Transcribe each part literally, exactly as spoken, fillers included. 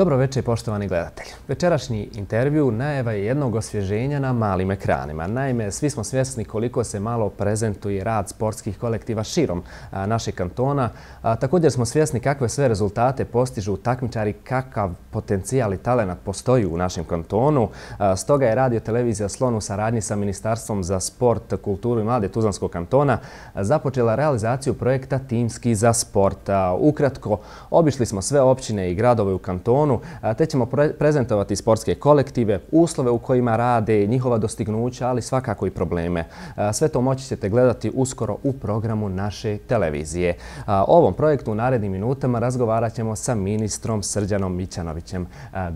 Dobro večer, poštovani gledatelji. Večerašnji intervju najava je jednog osvježenja na malim ekranima. Naime, svi smo svjesni koliko se malo prezentuje rad sportskih kolektiva širom našeg kantona. Također smo svjesni kakve sve rezultate postižu takmičari, kakav potencijal i talenat postoji u našem kantonu. Stoga je Radio Televizija Slon u saradnji sa Ministarstvom za sport, kulturu i mlade Tuzlanskog kantona započela realizaciju projekta Timski za sport. Ukratko, obišli smo sve općine i gradove u kantonu, te ćemo prezentovati sportske kolektive, uslove u kojima rade, njihova dostignuća, ali svakako i probleme. Sve to moći ćete gledati uskoro u programu naše televizije. O ovom projektu u narednim minutama razgovarat ćemo sa ministrom Srđanom Mićanovićem.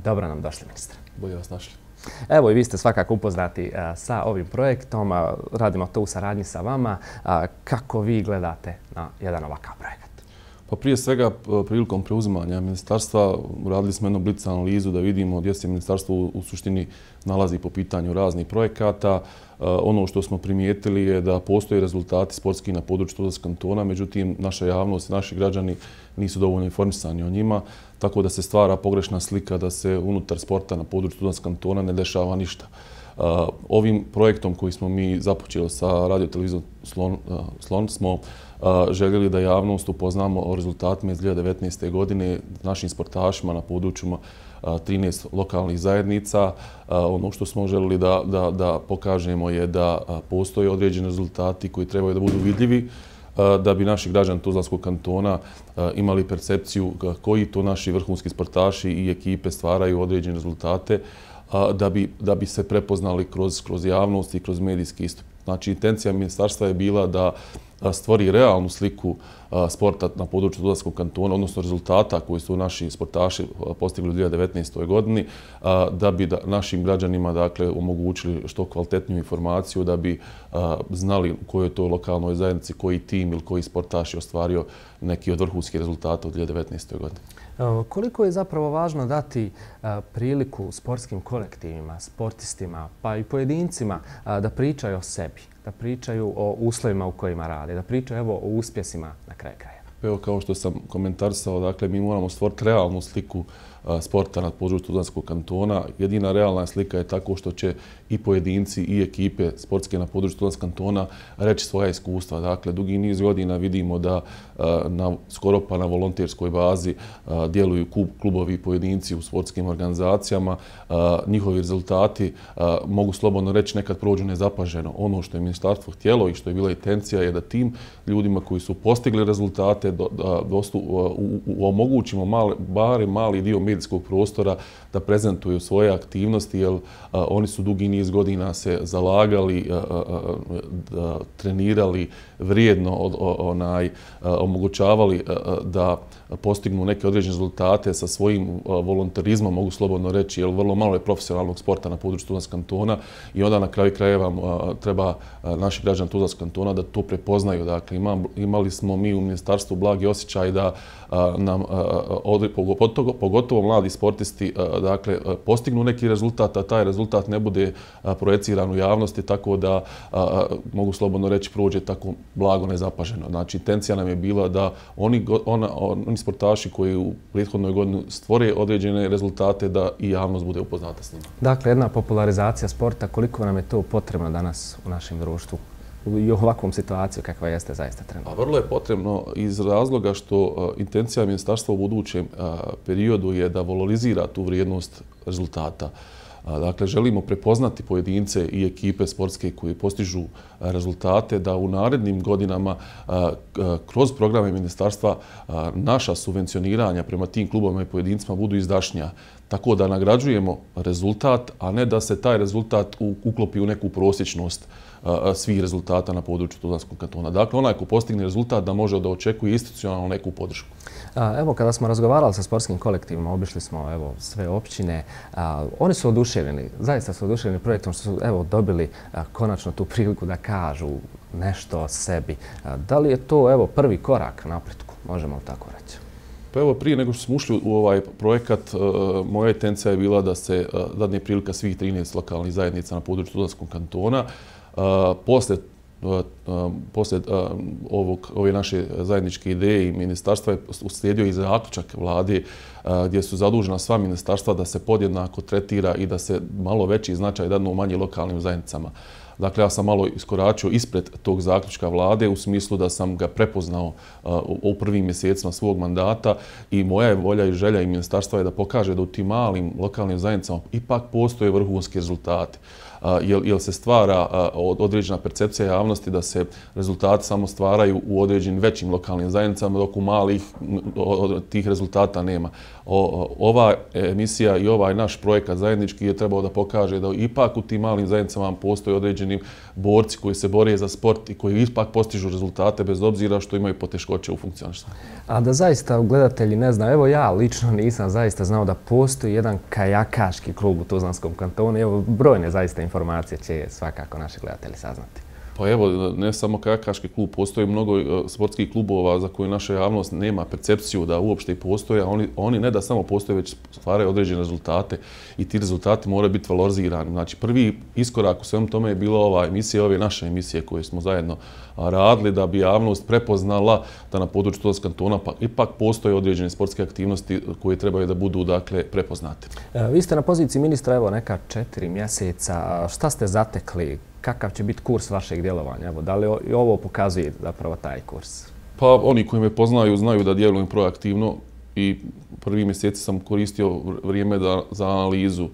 Dobro nam došli, ministre. Bolje vas našli. Evo i vi ste svakako upoznati sa ovim projektom. Radimo to u saradnji sa vama. Kako vi gledate na jedan ovakav projekat? Pa prije svega, prilikom preuzimanja ministarstva radili smo jednu blic analizu da vidimo gdje se ministarstvo u suštini nalazi po pitanju raznih projekata. Ono što smo primijetili je da postoje rezultati sportski na području Tuzlanskog kantona, međutim naša javnost i naši građani nisu dovoljno informisani o njima, tako da se stvara pogrešna slika da se unutar sporta na području Tuzlanskog kantona ne dešava ništa. Ovim projektom koji smo mi započeli sa Radio Televizijom Slon, Slon smo željeli da javnost upoznamo o rezultatima iz dvije hiljade devetnaeste. godine našim sportašima na područjima trinaest lokalnih zajednica. Ono što smo željeli da, da, da pokažemo je da postoje određeni rezultati koji trebaju da budu vidljivi, da bi naši građani Tuzlanskog kantona imali percepciju koji to naši vrhunski sportaši i ekipe stvaraju određene rezultate, da bi, da bi se prepoznali kroz, kroz javnost i kroz medijski istup. Znači, intencija ministarstva je bila da stvori realnu sliku sporta na području Tuzlanskog kantona, odnosno rezultata koji su naši sportaši postigli u dvije hiljade devetnaestoj. godini, da bi da našim građanima dakle, omogućili što kvalitetniju informaciju, da bi znali u kojoj to lokalnoj zajednici, koji tim ili koji sportaš je ostvario neki od vrhunskih rezultata u dvije hiljade devetnaestoj. godini. Koliko je zapravo važno dati priliku sportskim kolektivima, sportistima pa i pojedincima da pričaju o sebi, da pričaju o uslovima u kojima rade, da pričaju evo, o uspjesima na kraju kraja? Evo, kao što sam komentarisao, dakle, mi moramo stvoriti realnu sliku sporta na području Tuzlanskog kantona. Jedina realna slika je tako što će i pojedinci i ekipe sportske na području Tuzlanskog kantona reći svoja iskustva. Dakle, dugi niz godina vidimo da na, skoro pa na volonterskoj bazi djeluju klubovi i pojedinci u sportskim organizacijama. Njihovi rezultati, mogu slobodno reći, nekad prođu nezapaženo. Ono što je ministarstvo htjelo i što je bila intencija je da tim ljudima koji su postigli rezultate do, da, dostu, u, u, omogućimo mali, barem mali dio medijskog prostora da prezentuju svoje aktivnosti, jer a, oni su dugi niz godina se zalagali, a, a, a, trenirali vrijedno, od, onaj, a, omogućavali a, da postignu neke određene rezultate sa svojim volonterizmom, mogu slobodno reći, jer vrlo malo je profesionalnog sporta na području Tuzlanskog kantona i onda na kraju krajeva treba naši građani Tuzlanskog kantona da to prepoznaju. Dakle, imali smo mi u ministarstvu blagi osjećaj da nam pogotovo mladi sportisti dakle, postignu neki rezultat, a taj rezultat ne bude projeciran u javnosti, tako da mogu slobodno reći prođe tako blago nezapaženo. Znači, intencija nam je bila da oni, ona, oni sportaši koji u prethodnoj godini stvore određene rezultate da i javnost bude upoznata s njima. Dakle, jedna popularizacija sporta, koliko nam je to potrebno danas u našem društvu i u ovakvom situaciju kakva jeste zaista trenutno? A vrlo je potrebno iz razloga što intencija ministarstva u budućem periodu je da valorizira tu vrijednost rezultata. Dakle, želimo prepoznati pojedince i ekipe sportske koji postižu rezultate, da u narednim godinama kroz programe ministarstva naša subvencioniranja prema tim klubovima i pojedincima budu izdašnija. Tako da nagrađujemo rezultat, a ne da se taj rezultat uklopi u neku prosječnost svih rezultata na području Tuzlanskog kantona. Dakle, onaj ko postigne rezultat da može da očekuje institucionalno neku podršku. Evo, kada smo razgovarali sa sportskim kolektivima, obišli smo evo, sve općine, a, oni su oduševljeni, zaista su oduševljeni projektom što su evo, dobili a, konačno tu priliku da kažu nešto o sebi. A, da li je to evo, prvi korak napretku, možemo tako reći? Pa evo, prije nego što smo ušli u ovaj projekat, moja intencija je bila da se dadne prilika svih trinaest lokalnih zajednica na području Tuzlanskog kantona. Posle poslije ovog, ove naše zajedničke ideje i ministarstva je uslijedio i zaključak vlade gdje su zadužena sva ministarstva da se podjednako tretira i da se malo veći značaj dadnu manjim lokalnim zajednicama. Dakle, ja sam malo iskoračio ispred tog zaključka vlade u smislu da sam ga prepoznao u prvim mjesecima svog mandata i moja je volja i želja i ministarstva je da pokaže da u tim malim lokalnim zajednicama ipak postoje vrhunski rezultati. Jer se stvara određena percepcija javnosti da se rezultati samo stvaraju u određenim većim lokalnim zajednicama, dok u malih tih rezultata nema. Ova emisija i ovaj naš projekat zajednički je trebao da pokaže da ipak u tim malim zajednicama postoje određeni borci koji se bore za sport i koji ipak postižu rezultate bez obzira što imaju poteškoće u funkcionisanju. A da zaista gledatelji ne znaju, evo ja lično nisam zaista znao da postoji jedan kajakaški klub u Tuzlanskom kantonu. Evo, brojne zaista informacije će svakako naši gledatelji saznati. Pa evo, ne samo kajakaški klub, postoji mnogo sportskih klubova za koje naša javnost nema percepciju da uopšte i postoje, a oni, oni ne da samo postoje, već stvaraju određene rezultate i ti rezultati moraju biti valorizirani. Znači, prvi iskorak u svemu tome je bila ova emisija, ove naše emisije koje smo zajedno radili da bi javnost prepoznala da na području Tuzlanskog kantona pa ipak postoje određene sportske aktivnosti koje trebaju da budu, dakle, prepoznate. Vi ste na poziciji ministra, evo, neka četiri mjeseca. Šta ste zatekli? Kakav će biti kurs vašeg djelovanja? Evo, da li ovo pokazuje zapravo taj kurs? Pa oni koji me poznaju znaju da djelujem proaktivno i prvi mjeseci sam koristio vrijeme da, za analizu. Uh,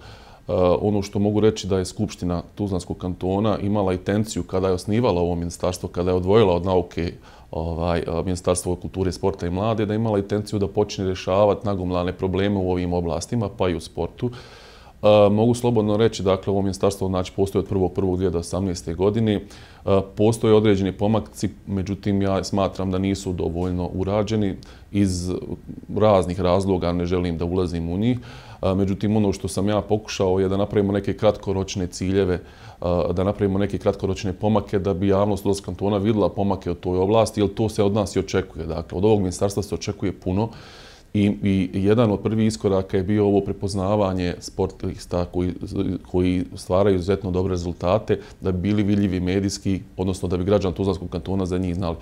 ono što mogu reći da je Skupština Tuzlanskog kantona imala intenciju kada je osnivala ovo ministarstvo, kada je odvojila od nauke ovaj, Ministarstvo kulture, sporta i mlade, da je imala intenciju da počne rješavati nagomilane probleme u ovim oblastima, pa i u sportu. Uh, mogu slobodno reći, dakle, ovo ministarstvo znači, postoji od prvog prvog dvije tisuće osamnaeste. godine. Uh, postoje određeni pomakci, međutim, ja smatram da nisu dovoljno urađeni iz raznih razloga, ne želim da ulazim u njih. Uh, međutim, ono što sam ja pokušao je da napravimo neke kratkoročne ciljeve, uh, da napravimo neke kratkoročne pomake da bi javnost Tuzlanskog kantona vidjela pomake u toj oblasti, jer to se od nas i očekuje. Dakle, od ovog ministarstva se očekuje puno. I, i jedan od prvih iskoraka je bio ovo prepoznavanje sportista koji, koji stvaraju izuzetno dobre rezultate, da bi bili vidljivi medijski, odnosno da bi građani Tuzlanskog kantona za njih znali.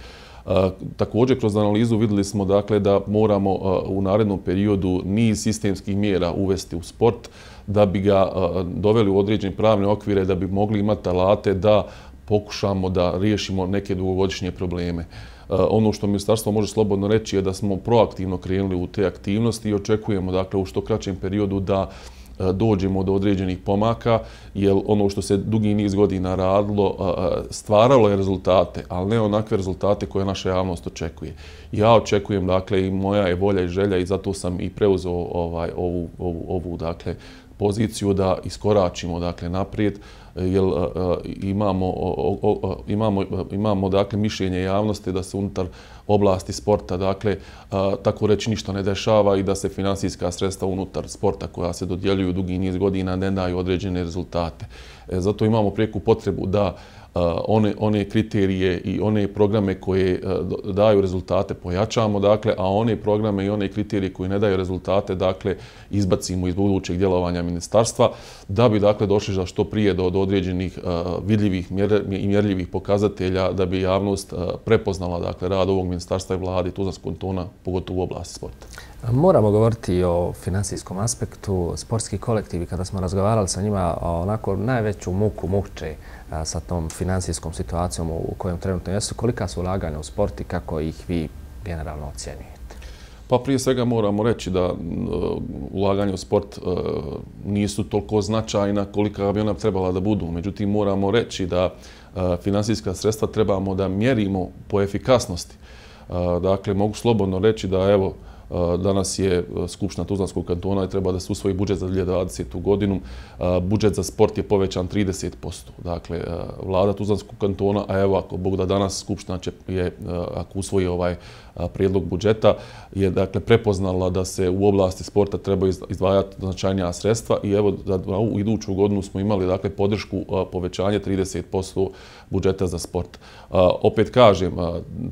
Uh, također, kroz analizu vidjeli smo, dakle, da moramo uh, u narednom periodu niz sistemskih mjera uvesti u sport, da bi ga uh, doveli u određene pravne okvire, da bi mogli imati alate da pokušamo da riješimo neke dugogodišnje probleme. Ono što ministarstvo može slobodno reći je da smo proaktivno krenuli u te aktivnosti i očekujemo, dakle, u što kraćem periodu da dođemo do određenih pomaka, jer ono što se dugi niz godina radilo stvaralo je rezultate, ali ne onakve rezultate koje naša javnost očekuje. Ja očekujem, dakle, i moja je volja i želja i zato sam i preuzeo ovaj, ovu, ovu, ovu dakle, poziciju da iskoračimo, dakle, naprijed, jer uh, imamo, o, o, imamo, imamo dakle, mišljenje javnosti da se unutar oblasti sporta, dakle, uh, tako reći ništa ne dešava i da se finansijska sredstva unutar sporta koja se dodjeljuju dugi niz godina ne daju određene rezultate. E, zato imamo prijeku potrebu da Uh, one, one kriterije i one programe koje uh, daju rezultate pojačamo, dakle, a one programe i one kriterije koji ne daju rezultate, dakle, izbacimo iz budućeg djelovanja ministarstva, da bi, dakle, došli za što prije do, do određenih uh, vidljivih mjer, i mjerljivih pokazatelja, da bi javnost uh, prepoznala, dakle, rad ovog ministarstva i vlade Tuzlanskog kantona, pogotovo u oblasti sporta. Moramo govoriti o finansijskom aspektu. Sportski kolektivi, kada smo razgovarali sa njima, onako najveću muku muče sa tom finansijskom situacijom u kojem trenutno jesu. Kolika su ulaganja u sport i kako ih vi generalno ocjenjujete? Pa prije svega moramo reći da uh, ulaganje u sport uh, nisu toliko značajna kolika bi ona trebala da budu. Međutim, moramo reći da uh, finansijska sredstva trebamo da mjerimo po efikasnosti. Uh, dakle, mogu slobodno reći da, evo, danas je Skupština Tuzlanskog kantona i treba da se usvoji budžet za dvije tisuće dvadesetu. godinu. Budžet za sport je povećan trideset posto. Dakle, vlada Tuzlanskog kantona, a evo ako Bog da danas Skupština će, je, ako usvoji ovaj prijedlog budžeta, je, dakle, prepoznala da se u oblasti sporta treba izdvajati značajnija sredstva i evo za u iduću godinu smo imali, dakle, podršku povećanje trideset posto budžeta za sport. Opet kažem,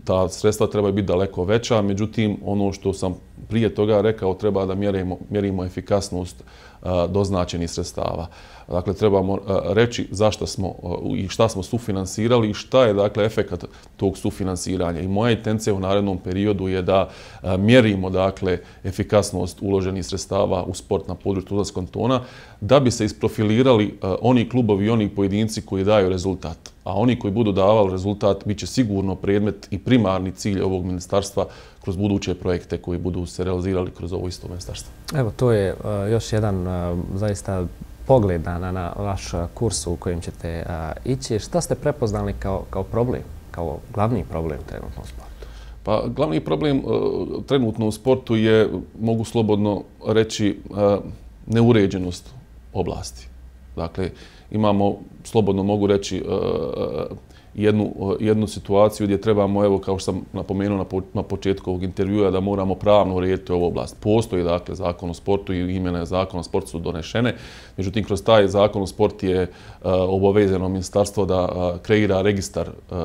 ta sredstva treba biti daleko veća, međutim, ono što sam prije toga rekao, treba da mjerimo, mjerimo efikasnost doznačenih sredstava. Dakle, trebamo reći zašto smo i šta smo sufinansirali i šta je, dakle, efekat tog sufinansiranja. I moja intencija u narednom periodu je da mjerimo, dakle, efikasnost uloženih sredstava u sport na području Tuzlanskog kantona, da bi se isprofilirali oni klubovi i oni pojedinci koji daju rezultat. A oni koji budu davali rezultat bit će sigurno predmet i primarni cilj ovog ministarstva kroz buduće projekte koji budu se realizirali kroz ovo isto ministarstvo. Evo, to je uh, još jedan uh, zaista pogled na, na vaš kurs u kojem ćete uh, ići. Šta ste prepoznali kao, kao problem, kao glavni problem trenutno u sportu? Pa, glavni problem uh, trenutno u sportu je, mogu slobodno reći, uh, neuređenost oblasti. Dakle, imamo, slobodno mogu reći, uh, Jednu, jednu situaciju gdje trebamo, evo, kao što sam napomenuo na, po, na početku ovog intervjua, da moramo pravno urediti ovu oblast. Postoji, dakle, zakon o sportu i imena zakona o sportu su donešene. Međutim, kroz taj zakon o sportu je uh, obavezano ministarstvo da uh, kreira registar, uh,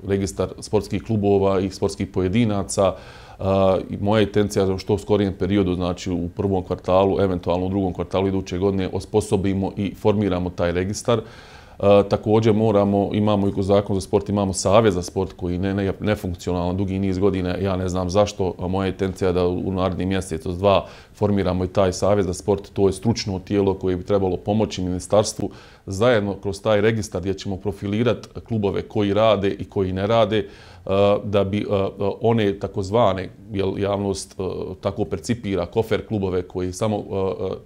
registar sportskih klubova i sportskih pojedinaca. Uh, moja intencija je što u skorijem periodu, znači u prvom kvartalu, eventualno u drugom kvartalu iduće godine, osposobimo i formiramo taj registar. Uh, također moramo, imamo i kroz zakon za sport, imamo savez za sport koji ne, ne, ne funkcionalno dugi niz godina. Ja ne znam zašto, a moja intencija je da u naredni mjesec, od dva, formiramo i taj savez za sport. To je stručno tijelo koje bi trebalo pomoći ministarstvu zajedno kroz taj registar gdje ćemo profilirati klubove koji rade i koji ne rade, da bi one takozvane, jer javnost tako percipira, kofer klubove koji samo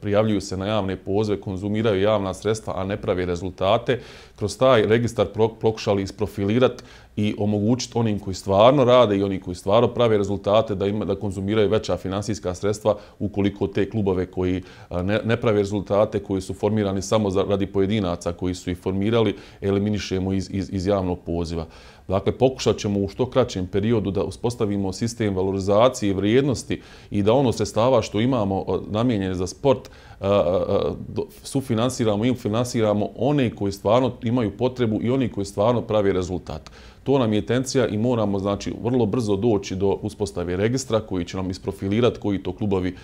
prijavljuju se na javne pozive, konzumiraju javna sredstva, a ne prave rezultate, kroz taj registar pokušali isprofilirati i omogućiti onim koji stvarno rade i oni koji stvarno prave rezultate da ima, da konzumiraju veća finansijska sredstva ukoliko te klubove koji ne, ne prave rezultate, koji su formirani samo za, radi pojedinaca koji su ih formirali, eliminišemo iz, iz, iz javnog poziva. Dakle, pokušat ćemo u što kraćem periodu da uspostavimo sistem valorizacije vrijednosti i da ono sredstava što imamo namijenjene za sport sufinansiramo i finansiramo one koji stvarno imaju potrebu i oni koji stvarno pravi rezultat. To nam je intencija i moramo, znači, vrlo brzo doći do uspostave registra koji će nam isprofilirati koji to klubovi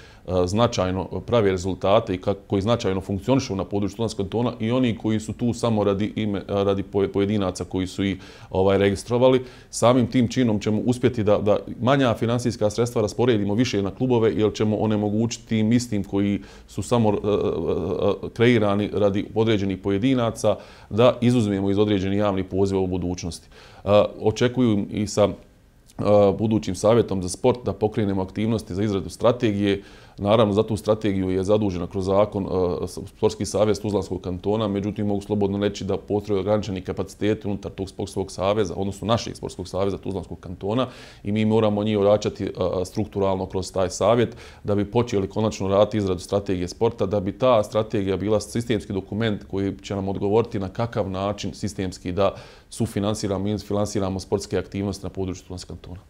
značajno pravi rezultate i koji značajno funkcionišu na području Tuzlanskog kantona i oni koji su tu samo radi, ime, radi pojedinaca koji su ih ovaj, registrovali. Samim tim činom ćemo uspjeti da, da manja finansijska sredstva rasporedimo više na klubove, jer ćemo onemogućiti tim istim koji su samo uh, uh, kreirani radi određenih pojedinaca da izuzmemo iz određenih javnih poziva u budućnosti. Uh, očekuju i sa uh, budućim savjetom za sport da pokrenemo aktivnosti za izradu strategije. Naravno, za tu strategiju je zadužena kroz zakon uh, Sportski savez Tuzlanskog kantona, međutim, mogu slobodno reći da postoje ograničeni kapaciteti unutar tog sportskog saveza, odnosno našeg Sportskog saveza Tuzlanskog kantona, i mi moramo njih ojačati uh, strukturalno kroz taj savjet da bi počeli konačno raditi izradu strategije sporta, da bi ta strategija bila sistemski dokument koji će nam odgovoriti na kakav način sistemski da sufinansiramo i finansiramo sportske aktivnosti na području Tuzlanskog kantona.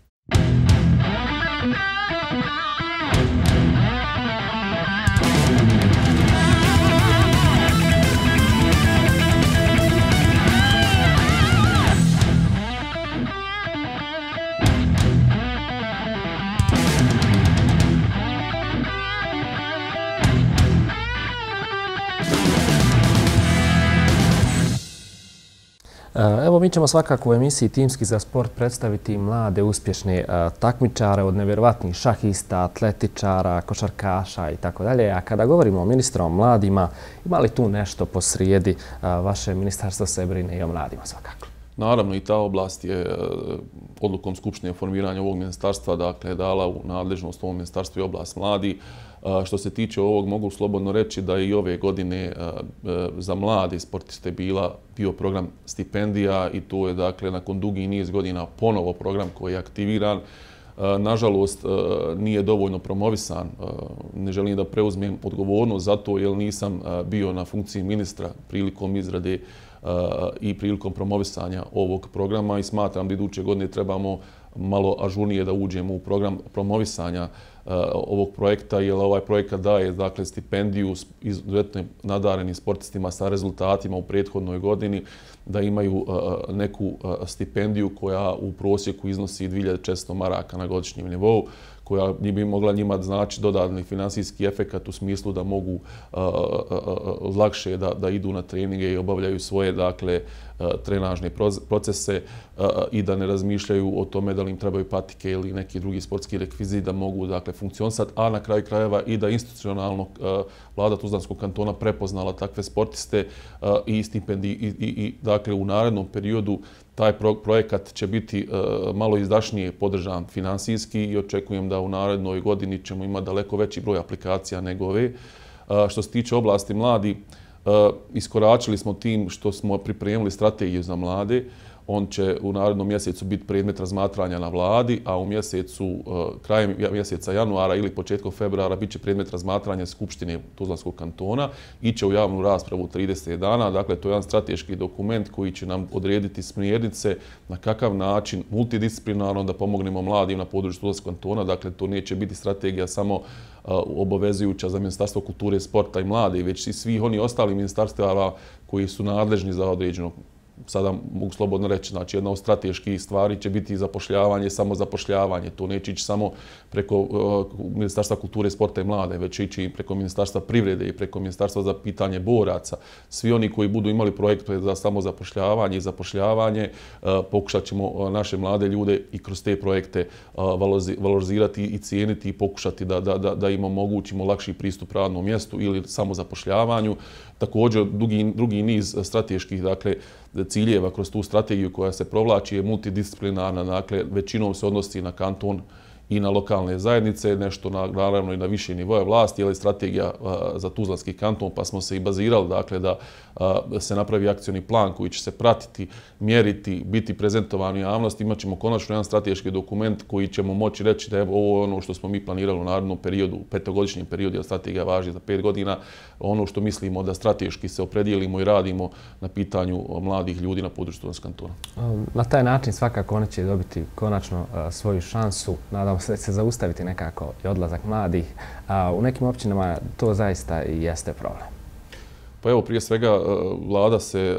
Evo, mi ćemo svakako u emisiji Timski za sport predstaviti mlade, uspješne takmičare od nevjerovatnih šahista, atletičara, košarkaša i tako dalje. A kada govorimo o ministru o mladima, ima li tu nešto posrijedi? Vaše ministarstvo se brine i o mladima svakako. Naravno, i ta oblast je odlukom Skupštine o formiranju ovog ministarstva, dakle, dala u nadležnost ovom ministarstvu i oblast mladi. Što se tiče ovog, mogu slobodno reći da i ove godine za mlade sportiste bila bio program stipendija i to je, dakle, nakon dugi niz godina ponovo program koji je aktiviran. Nažalost, nije dovoljno promovisan. Ne želim da preuzmem odgovornost za to jer nisam bio na funkciji ministra prilikom izrade i prilikom promovisanja ovog programa i smatram da iduće godine trebamo malo ažurnije da uđemo u program promovisanja ovog projekta, jer ovaj projekat daje dakle, stipendiju izuzetno nadarenim sportistima sa rezultatima u prethodnoj godini, da imaju neku stipendiju koja u prosjeku iznosi dvije hiljade četiristo maraka na godišnjem nivou, koja bi mogla njima znači dodatni finansijski efekat u smislu da mogu lakše da, da idu na treninge i obavljaju svoje dakle, trenažne procese i da ne razmišljaju o tome da li im trebaju patike ili neki drugi sportski rekvizit da mogu dakle, funkcionisati, a na kraju krajeva i da institucionalno vlada Tuzlanskog kantona prepoznala takve sportiste i stipendiji i, i, i dakle, u narednom periodu taj projekat će biti malo izdašnije podržan finansijski i očekujem da u narednoj godini ćemo imati daleko veći broj aplikacija nego ove. Što se tiče oblasti mladi, iskoračili smo tim što smo pripremili strategiju za mlade. On će u narednom mjesecu biti predmet razmatranja na vladi, a u mjesecu, krajem mjeseca januara ili početkom februara bit će predmet razmatranja Skupštine Tuzlanskog kantona. Iće u javnu raspravu trideset dana. Dakle, to je jedan strateški dokument koji će nam odrediti smjernice na kakav način multidisciplinarno da pomognemo mladim na području Tuzlanskog kantona. Dakle, to neće biti strategija samo obavezujuća za Ministarstvo kulture, sporta i mlade, već i svih oni ostali ministarstava koji su nadležni za određeno. Sada mogu slobodno reći, znači jedna od strateških stvari će biti zapošljavanje, samo zapošljavanje. To neće ići samo preko uh, Ministarstva kulture, sporta i mlade, već ići i preko Ministarstva privrede i preko Ministarstva za pitanje boraca. Svi oni koji budu imali projekte za samo zapošljavanje i zapošljavanje, uh, pokušat ćemo uh, naše mlade ljude i kroz te projekte uh, valorizirati i cijeniti i pokušati da, da, da, da im omogućimo lakši pristup radnom mjestu ili samo zapošljavanju. Također, drugi, drugi niz strateških dakle, ciljeva kroz tu strategiju koja se provlači je multidisciplinarna, dakle većinom se odnosi na kanton i na lokalne zajednice, nešto na, naravno i na više nivoje vlasti, ali strategija a, za Tuzlanski kanton, pa smo se i bazirali dakle, da a, se napravi akcioni plan koji će se pratiti, mjeriti, biti prezentovan u javnosti. Imat ćemo konačno jedan strateški dokument koji ćemo moći reći da je ovo ono što smo mi planirali u narednom periodu, u petogodišnjem periodu, jer strategija važi za pet godina, ono što mislimo da strateški se opredijelimo i radimo na pitanju mladih ljudi na području Tuzlanskog kantona. Na taj način svakako oni će dobiti konačno a, svoju šansu. Nadam se da će se zaustaviti nekako i odlazak mladih. A u nekim općinama to zaista i jeste problem. Pa evo, prije svega, vlada se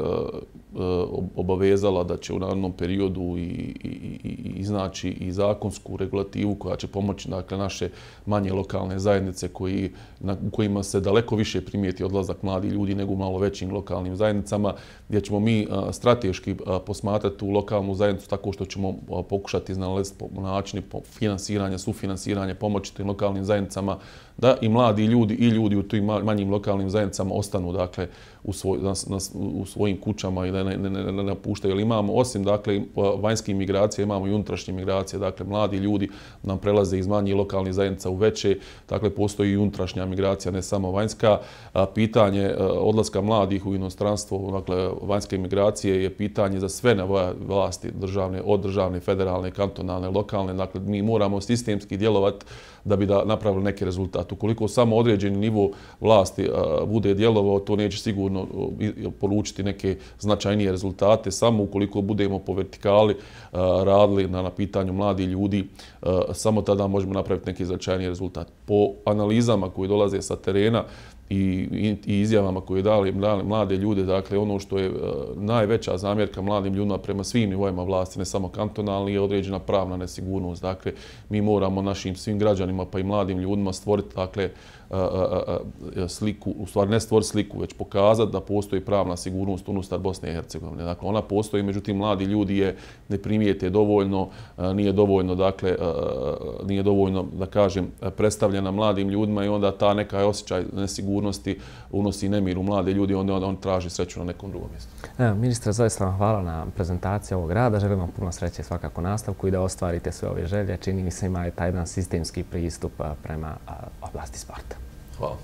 obavezala da će u narednom periodu i, i, i, iznaći i zakonsku regulativu koja će pomoći dakle, naše manje lokalne zajednice koji, na kojima se daleko više primijeti odlazak mladih ljudi nego u malo većim lokalnim zajednicama, gdje ćemo mi strateški posmatrati tu lokalnu zajednicu tako što ćemo pokušati iznalaziti načine finansiranja, sufinansiranja, pomoći tim lokalnim zajednicama da i mladi ljudi i ljudi u tim manjim lokalnim zajednicama ostanu dakle, u, svoj, na, na, u svojim kućama i da ne, ne, ne, ne napuštaju. Jer imamo, osim dakle, vanjskih migracija, imamo i unutrašnje migracije. Dakle, mladi ljudi nam prelaze iz manjih lokalnih zajednica u veće. Dakle, postoji i unutrašnja migracija, ne samo vanjska. A, pitanje a, odlaska mladih u inostranstvo, dakle, vanjske migracije je pitanje za sve na vlasti državne, od državne, federalne, kantonalne, lokalne. Dakle, mi moramo sistemski djelovati da bi da napravili neki rezultat. Ukoliko samo određeni nivo vlasti a, bude djelovao, to neće sigurno polučiti neke značajnije rezultate. Samo ukoliko budemo po vertikali a, radili na, na pitanju mladih ljudi, a, samo tada možemo napraviti neki značajniji rezultat. Po analizama koji dolaze sa terena i, i, i izjavama koje dali mlade ljude, dakle ono što je a, najveća zamjerka mladim ljudima prema svim nivoima vlasti, ne samo kantonalni, je određena pravna nesigurnost. Dakle, mi moramo našim svim građanima pa i mladim ljudima stvoriti dakle, a, a, a, sliku, u stvari ne stvoriti sliku, već pokazati da postoji pravna sigurnost unutar Bosne i Hercegovine. Dakle, ona postoji, međutim, mladi ljudi je ne primijete dovoljno, a, nije dovoljno, dakle, a, nije dovoljno, da kažem, predstavljena mladim ljudima i onda ta neka osjećaj nesigurnosti unosi nemir u mlade ljudi, onda on traži sreću na nekom drugom mjestu. Evo, ministre, zaista vam hvala na prezentaciji ovog rada. Želim vam puno sreće svakako nastavku i da ostvarite sve ove želje. Čini mi se ima taj jedan sistemski pristup prema oblasti sporta. Hvala.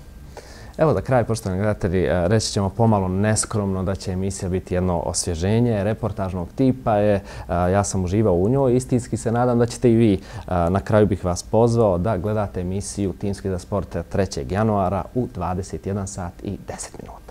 Evo za kraj, poštovani gledatelji, reći ćemo pomalo neskromno da će emisija biti jedno osvježenje reportažnog tipa. Je, ja sam uživao u njoj. Istinski se nadam da ćete i vi. Na kraju bih vas pozvao da gledate emisiju Timski za sport trećeg januara u dvadeset jedan sat i deset minuta.